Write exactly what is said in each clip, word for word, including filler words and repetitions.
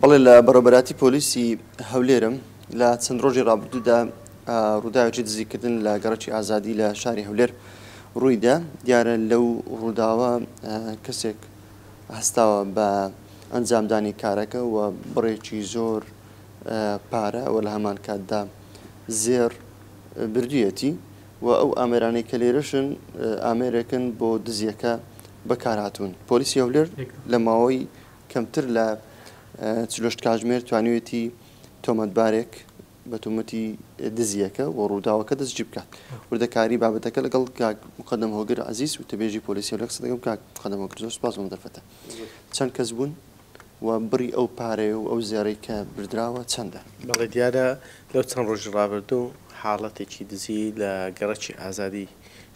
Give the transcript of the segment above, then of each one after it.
بەڵێ لە بەڕێوەبەرایەتی پۆلیسی هەولێرم لە چەند ڕۆژی ڕابردوودا ڕووداوێکی دزیکردن لە گەڕەکی ئازادی لە شاری هەولێر ڕوویدا. دیارە لەو ڕووداوە کەسێک هەستاوە بە ئەنجامدانی کارەکە و بڕێکی زۆر پارە و لە هەمان کاتدا زێڕ بردوویەتی و ئەو ئامێرانەی کە لێرەشن ئامێرێکن بۆ دزیەکە بەکارهاتوون. پۆلیسی هەولێر لە ماوەی کەمتر لە چل و هەشت کاتژمێر توانیوێتی تۆمەتبارێک بە تۆمەتی دزیەکە و ڕووداوەکە دەستگیر بکات. وردەکاری بابەتەکە لەگەڵ کاک مقەدەم هۆگر عەزیز و تەبێژی پۆلیسی هەولێر قسە دەکەم. کاک مقەدەم هۆگر، زۆر سوپاس بۆ دەرفەتە. چەند کەس بوون و بڕی ئەو پارەیە و ئەو زێڕەی کە بردراوە چەندە؟ بەڵێ، دیارە لەو چەند ڕۆژی ڕابردوو حاڵەتێکی دزی لە گەڕەکی ئازادی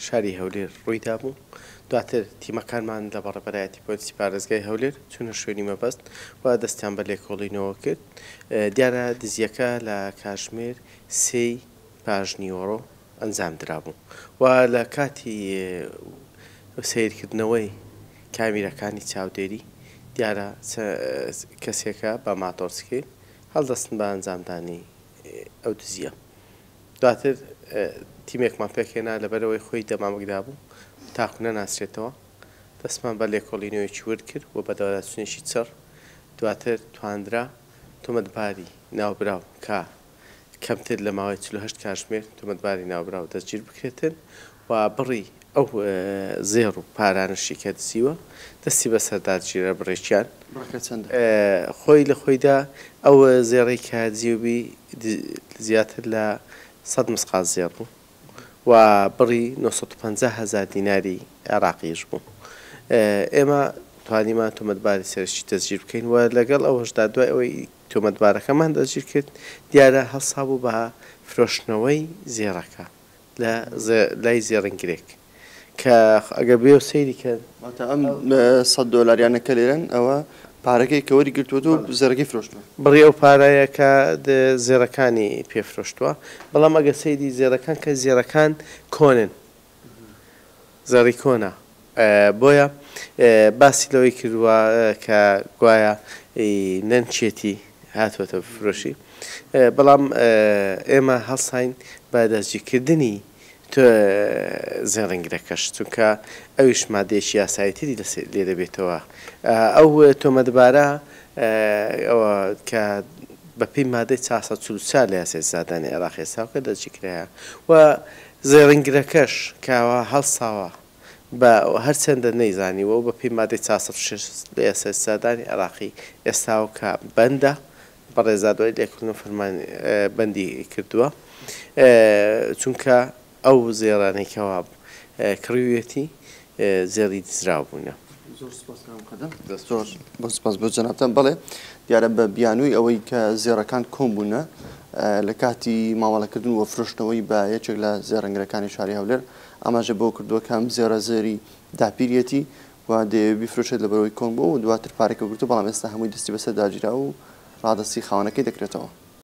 شاری هەولێر ڕوویدا بوو. دواتر تیمەکانمان لە بەڕێوەبەرایەتی پۆلیسی پارێزگای هەولێر چوونە شوێنی مەبەست و دەستیان بە لێکۆڵینەوە کرد. دیارە دزیەکە لە کاتژمێر سێی پاش نیوەڕۆ ئەنجام درابوو و لە کاتی سەیرکردنەوەی کامیرەکانی چاودێری دیارە کەسێکە بە ماتۆرسکیل هەڵدەستن بە ئەنجامدانی ئەو دزیە. دواتر تیمێکمان پێکهێنا لەبەرەوەی خۆی دەمامکدا بوو تاکو نەناسرێتەوە. دەستمان بە لێکۆڵینەوەیەکی ورد کرد و بە دەواداچوونێکی چڕ. دواتر تواندرا تۆمەتباری ناوبراو کە کەمتر لە ماوەی چل و هەشت کاتژمێر تۆمەتباری ناوبراو دەستگیر بکرێتن و بڕی ئەو زێڕ و پارانەشی کە دزیوە دەستی بەسەردا گیرە بڕێکیان. بڕەکە چەندە؟ خۆی لە خۆیدا ئەو زێڕەی کە دزیوبی زیاتر لە سەد مسقال زێڕ بوو و بڕی نۆ سەد و پەنجا هەزار دیناری عێراقیش بوو. ئێمە توانیمان تۆمەتباری سەرەکی دەستگیر بکەین و لەگەڵ ئەوەشدا دوای ئەوەی تۆمەتبارەکەمان دەستگیر کرد دیارە هەڵسا بوو بە فرۆشتنەوەی زێڕەکە لە لای زێڕنگرێک کە ئەگەر بێ و سەیری کەن واتە ئەم سەد دۆلاریانە کە لێرەن ئەوە پارەکەی کە وەری گرتووەتەوە زێڕەکەی فرۆشتووە. بڕی ئەو پارەیە کە زێڕەکانی پێفرۆشتووە. بەڵام ئەگەر سەیری زێڕەکان کە زێڕەکان کۆنن، زێڕی کۆنە، بۆیە باسی لەوەی کردووە کە گوایە نەنچێتی هاتووەتە فرۆشی. بەڵام ئێمە هەڵساین بە دەستگیرکردنی زێڕنگرەکەش، چونکە ئەویش مادەیەکی یاساییتری لێ دەبێتەوە. ئەو تۆمەتبارە ئەوە کە بەپێی مادەی چوار سەد چل و چوار لە یاسای سزادانی عێراق ئێستاوکە دەستگیرکرایە و زێڕنگرەکەش کەوا هەڵساوە بە هەرچەندە نەیزانیوە و بەپێی مادەی چوار سەد و شەش لە یاسای سزادانی عێراقی ئێستاوکە بەندە، بەڕێزا دوای لێکردن فەرمان بەندی کردووە، چونکە ئەو زێڕانەی کەوا کڕیویەتی زێڕی دزراو بوونە. زۆر سپاس کاک مقەدەم. زۆر سپاس بۆ جەنابتان. بەڵێ دیارە بە بیانووی ئەوەی کە زێڕەکان کۆم بوونە لە کاتی مامەڵەکردن و فرۆشتنەوەی بە یەکێک لە زێڕنگرەکانی شاری هەولێر ئاماژە بۆ کردووە کە ئەم زێڕە زێری داپیریەتی و دەیەوێت بیفرۆشێت لەبەرەوەی کۆن بوو و دواتر پارەکە گرتووە، بەڵام ئێستا هەمووی دەستی بەسەردا گیرا و ڕادەستی خاوەنەکەی دەکرێتەوە.